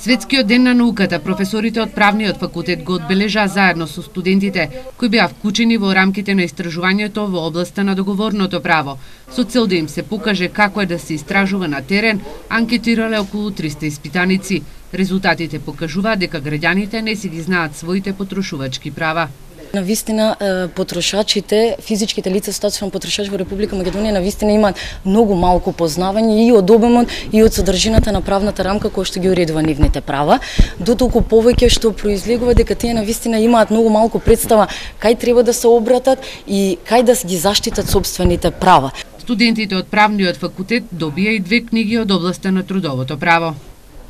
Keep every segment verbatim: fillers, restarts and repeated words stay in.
Светскиот ден на науката професорите од правниот факултет го одбележаа заедно со студентите кои беа вклучени во рамките на истражувањето во областа на договорното право, со цел да им се покаже како е да се истражува на терен. Анкетирале околу триста испитаници. Резултатите покажуваат дека граѓаните не си ги знаат своите потрошувачки права. Навистина потрошачите, физичките лица статусно потрошачи во Република Македонија навистина имаат многу малку познавање и од обемот и од содржината на правната рамка која што ги уредува нивните права, дотолку повеќе што произлегува дека тие навистина имаат многу малку представа кај треба да се обратат и кај да ги заштитат сопствените права. Студентите од правниот факултет добија и две книги од областа на трудовото право.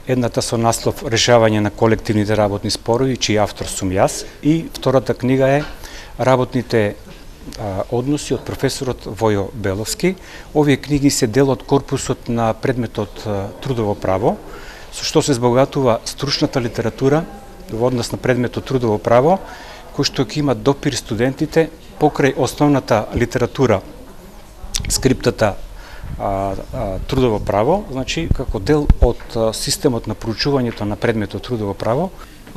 Едната со наслов Решавање на колективните работни спорови, чиј автор сум јас, и втората книга е Работните а, односи од професорот Војо Беловски. Овие книги се дел од корпусот на предметот а, Трудово право, со што се збогатува стручната литература во однос на предметот Трудово право, кој што ќе имат допир студентите покрај основната литература, скриптата А, а, трудово право, значи како дел од а, системот на проучувањето на предметот трудово право.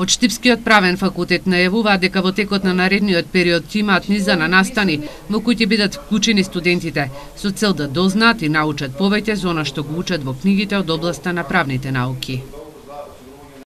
Од Штипскиот правен факултет најавуваат дека во текот на наредниот период ќе имаат низа на настани во кои ќе бидат вклучени студентите со цел да дознаат и научат повеќе за она што го учат во книгите од областа на правните науки.